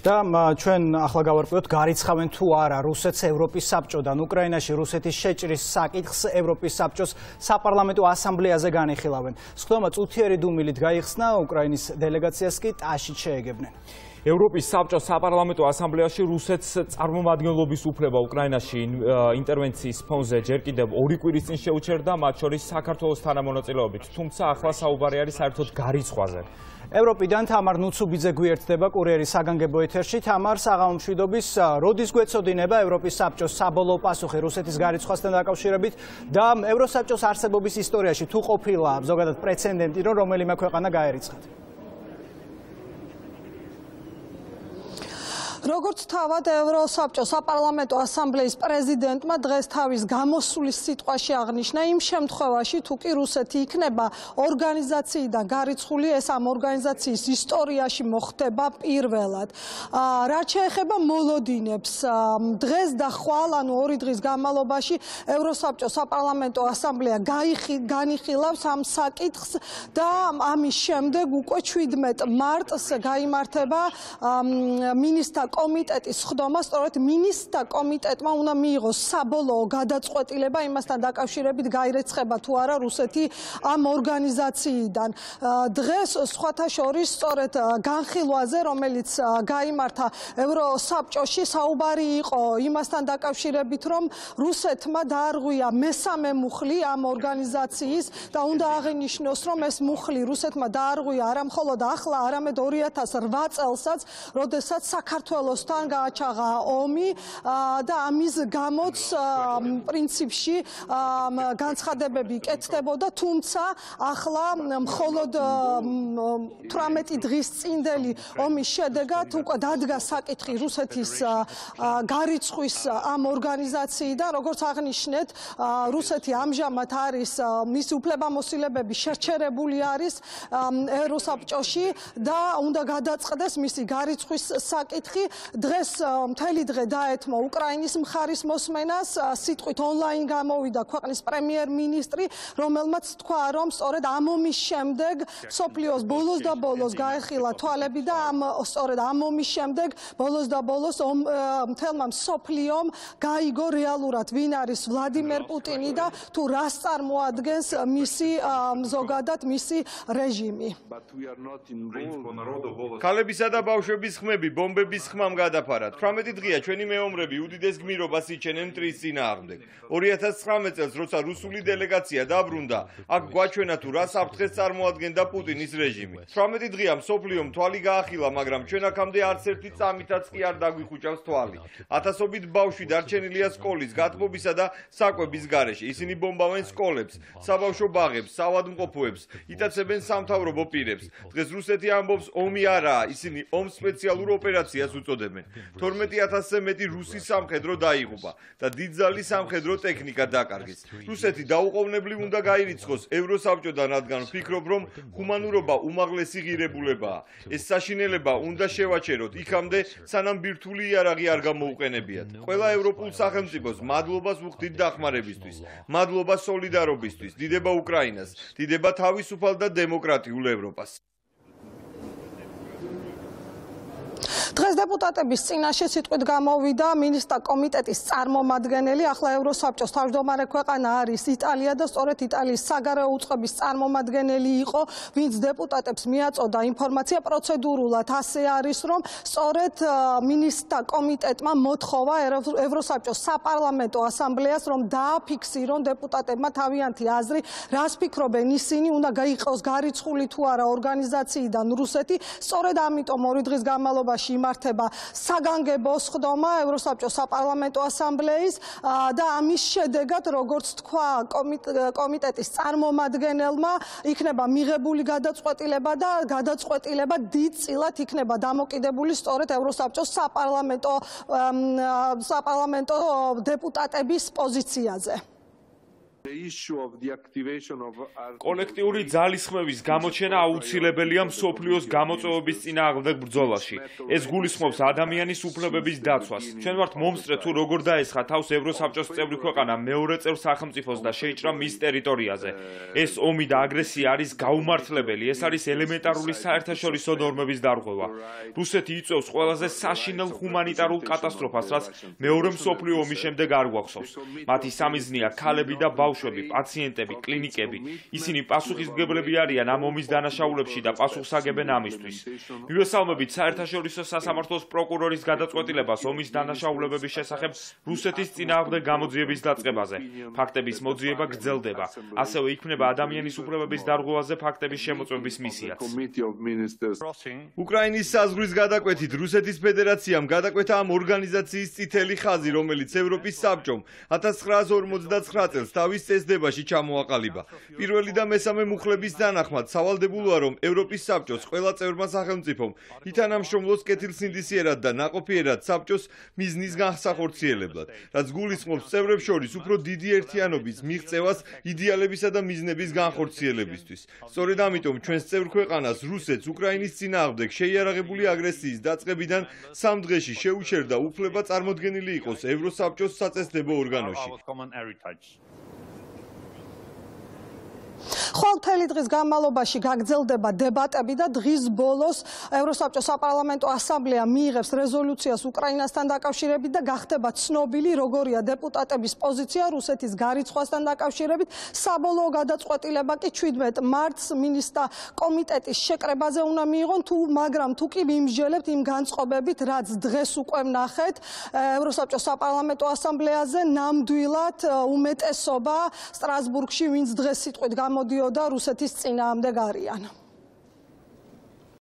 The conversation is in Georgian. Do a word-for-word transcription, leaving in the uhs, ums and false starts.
და ჩვენ ახლა გავარკვიოთ გარიცხავენ თუ არა რუსეთს ევროპის საბჭოდან უკრაინაში რუსეთის შეჭრის საკითხს ევროპის საბჭოს საპარლამენტო ასამბლეაზე განიხილავენ. სხდომა წუთიერი დუმილით გაიხსნა უკრაინის დელეგაციას კი ტაშით შეეგებნენ. ევროპის საბჭოს საპარლამენტო ასამბლეაში რუსეთს წარმომადგენლობის უფლება უკრაინაში ინტერვენციის ფონზე ჯერ კიდევ ორი კვირის წინ შეუჩერდა, მათ შორის საქართველოს თანამონაწილეობით, თუმცა ახლა საუბარი არის საერთოდ გარიცხვაზე. ევროპიდან თამარ ნუცუბიძე გვიერთდება კურიერის საგანგებო ეთერში. თამარ, საღამო მშვიდობის, როდის გვეცოდინება ევროპის საბჭოს საბოლოო პასუხი რუსეთის გარიცხვასთან დაკავშირებით და ევროსაბჭოს არსებობის ისტორიაში თუ ყოფილა ზოგადად პრეცედენტი, რომ რომელიმე ქვეყანა გაერიცხათ? როგორც თავად ევროსაბჭოს საპარლამენტო ასამბლეის პრეზიდენტმა დღეს თავის გამოსulis სიტყვაში აღნიშნა, იმ შემთხვევაში თუ კი რუსეთი იქნება ორგანიზაციიდან გარიცხული, ეს ამ ორგანიზაციის ისტორიაში მოხდება პირველად. რაც შეეხება მოლოდინებს, დღეს და ხვალ, ანუ ორი დღის განმავლობაში ევროსაბჭოს საპარლამენტო ასამბლეა განიხილავს ამ საკითხს და ამის შემდეგ უკვე შვიდმეტ მარტს გაიმართება მინისტრთა კომიტეტის სხდომა, სწორედ მინისტრთა კომიტეტმა უნდა მიიღოს საბოლოო გადაწყვეტილება იმასთან დაკავშირებით გაირიცხება თუ არა რუსეთი ამ ორგანიზაციიდან. დღეს სხვათა შორის სწორედ განხილვაზე, რომელიც გაიმართა ევროსაბჭოში, საუბარი იყო იმასთან დაკავშირებით, რომ რუსეთმა დაარღვია მესამე მუხლი ამ ორგანიზაციის და უნდა აღინიშნოს, რომ ეს მუხლი რუსეთმა დაარღვია არა მხოლოდ ახლა, არამედ ორი ათას რვა წელსაც, როდესაც საქართველოსთან გააჩაღა ომი და ამის გამოც პრინციპში განცხადებები კეთდებოდა, თუმცა ახლა მხოლოდ თვრამეტი დღის წინდელი ომის შედეგად უკვე დადგა საკითხი რუსეთის გარიცხვის ამ ორგანიზაციიდან. როგორც აღნიშნეთ, რუსეთი ამჟამად არის მისი უფლებამოსილებები შეჩერებული არის ევროსაბჭოში და უნდა გადაწყდეს მისი გარიცხვის საკითხი. დღეს მთელი დღე დაეთმო უკრაინის მხარის მოსმენას, სიტყვით ონლაინ გამოვიდა ქვეყნის პრემიერ-მინისტრი, რომელმაც თქვა, რომ სწორედ ამ ომის შემდეგ მსოფლიოს ბოლოს და ბოლოს გაეხილა თვალები და ამ სწორედ ამ ომის შემდეგ ბოლოს და ბოლოს მთელმა მსოფლიომ გაიგო რეალურად ვინ არის ვლადიმერ პუტინი და თუ რას წარმოადგენს მისი ზოგადად მისი რეჟიმი. ქალებისა და ბავშვების ხმები ბომბების ხმამ გადაფარა. თვრამეტი დღეა ჩვენი მეომრები უდიდეს გმირობას იჩენენ მტრის წინააღმდეგ. ორი ათას ცხრამეტ წელს, როცა რუსული დელეგაცია დაბრუნდა, აქ გვაჩვენა თუ რა საფრთხეს წარმოადგენდა პუტინის რეჟიმი. თვრამეტი დღეა მსოფლიომ თვალი გაახილა, მაგრამ ჩვენ აქამდე არც ერთი წამითაც კი არ დაგვიხუჭავს თვალი. ათასობით ბავშვი დარჩენილია სკოლის, გათბობისა და საკვების გარეშე. ისინი ბომბავენ სკოლებს, საბავშვო ბაღებს, საავადმყოფოებს, იტაცებენ სამთავრობო პირებს. დღეს რუსეთი ამბობს, ომი არაა, ისინი ომს სპეციალურ ოპერაციას უწოდებენ. თორმეტი ათასზე მეტი რუსი სამხედრო დაიღუპა და დიდძალი სამხედრო ტექნიკა დაკარგეს. რუსეთი დაუყოვნებლივ უნდა გაირიცხოს ევროსაბჭოდან, რადგან ვფიქრობ, რომ ჰუმანურობა უმაღლესი ღირებულებაა. ეს საშინელება უნდა შევაჩეროთ იქამდე, სანამ ბირთვული იარაღი არ გამოუყენებიათ. ყველა ევროპულ სახელმწიფოს მადლობას ვუხდით დახმარებისთვის, მადლობა სოლიდარობისთვის, დიდება უკრაინას, დიდება თავისუფალ და დემოკრატიულ ევროპას. დღეს დეპუტატების წინაშე სიტყვით გამოვიდა მინისტრთა კომიტეტის წარმომადგენელი. ახლა ევროსაბჭოს თავმჯდომარე ქვეყანა არის იტალია და სწორედ იტალიის საგარეო უწყების წარმომადგენელი იყო, ვინც დეპუტატებს მიაწოდა ინფორმაცია. პროცედურულად ასე არის, რომ სწორედ მინისტრთა კომიტეტმა მოთხოვა ევროსაბჭოს საპარლამენტო ასამბლეას, რომ დააფიქსირონ დეპუტატებმა თავიანთი აზრი, რას ფიქრობენ ისინი, უნდა გაიყოს გარიცხული თუ არა ორგანიზაციიდან რუსეთი. სწორედ ამიტომ ორი დღის განმავლობაში იმართება საგანგებო სხდომა ევროსაბჭოს საპარლამენტო ასამბლეის და ამის შედეგად, როგორც თქვა კომიტეტის წარმომადგენელმა, იქნება მიღებული გადაწყვეტილება და გადაწყვეტილება დიდწილად იქნება დამოკიდებული სწორედ ევროსაბჭოს საპარლამენტო საპარლამენტო დეპუტატების პოზიციაზე. კოლექტიური ძალისხმევის გამოჩენა აუცილებელია მსოფლიოს გამოწვევების წინააღმდეგ ბრძოლაში. ეს გულისხმობს ადამიანის უფლებების დაცვას. ჩვენ ვართ მომსწრე თუ როგორ დაესხა თავს ევროსაბჭოს წევრი ქვეყანა მეორე წევრ სახელმწიფოს და შეიჭრა მის ტერიტორიაზე. ეს ომი და აგრესია არის გაუმართლებელი. ეს არის ელემენტარული საერთაშორისო ნორმების დარღვევა. რუსეთი იწვევს ყველაზე საშინელ ჰუმანიტარულ კატასტროფას, რაც მეორე მსოფლიო ომის შემდეგ არ გვახსოვს. მათი სამიზნეა ქალები და ბავშვები, პაციენტები, კლინიკები. ისინი პასუხისმგებლები არიან ამ ომის დანაშაულებში და პასუხს აგებენ ამისთვის. მივესალმებით საერთაშორისო სასამართლოს პროკურორის გადაწყვეტილებას ომის დანაშაულებების შესახებ რუსეთის წინააღმდეგ გამოძიების დაწყებაზე. ფაქტების მოძიება გრძელდება. ასევე იქმნება ადამიანის უფლებების დარღვევაზე ფაქტების შემოწმების მისიაც. უკრაინის საზღვრის გადაკვეთით რუსეთის ფედერაციამ გადაკვეთა ამ ორგანიზაციის წითელი ხაზი, რომელიც ევროპის საბჭომ ათას ცხრაას ორმოცდაცხრა წელს თავის წესდებაში ჩამოაყალიბა. პირველი და მესამე მუხლების თანახმად სავალდებულოა, რომ ევროპის საბჭოს ყველა წევრმა სახელმწიფომ ითანამშრომლოს კეთილსინდისიერად და ნაყოფიერად საბჭოს მიზნის განსახორციელებლად, რაც გულისხმობს წევრებს შორის უფრო დიდი ერთიანობის მიღწევას იდეალებისა და მიზნების განხორციელებისთვის. სწორედ ამიტომ ჩვენს წევრ ქვეყანას რუსეთს უკრაინის წინააღმდეგ შეიარაღებული აგრესიის დაწყებიდან სამ დღეში შეუჩერდა უფლება წარმოდგენილი იყოს ევროსაბჭოს საწესდებო ორგანოში. ხვალ მთელი დღის განმავლობაში გაგრძელდება დებატები და დღის ბოლოს ევროსაბჭოს საპარლამენტო ასამბლეა მიიღებს რეზოლუციას უკრაინასთან დაკავშირებით და გახდება ცნობილი, როგორია დეპუტატების პოზიცია რუსეთის გარიცხვასთან დაკავშირებით. საბოლოო გადაწყვეტილება კი ჩვიდმეტ მარტს მინისტრთა კომიტეტის შეკრებაზე უნდა მიიღონ, თუ მაგრამ თუ კი მიმსჯელებთ იმ განწყობებით, რაც დღეს უკვე ვნახეთ ევროსაბჭოს საპარლამენტო ასამბლეაზე, ნამდვილად უმეტესობა სტრასბურგში, ვინც დღეს სიტყვით გამოდიოდა რუსეთის წინააღმდეგ არიან.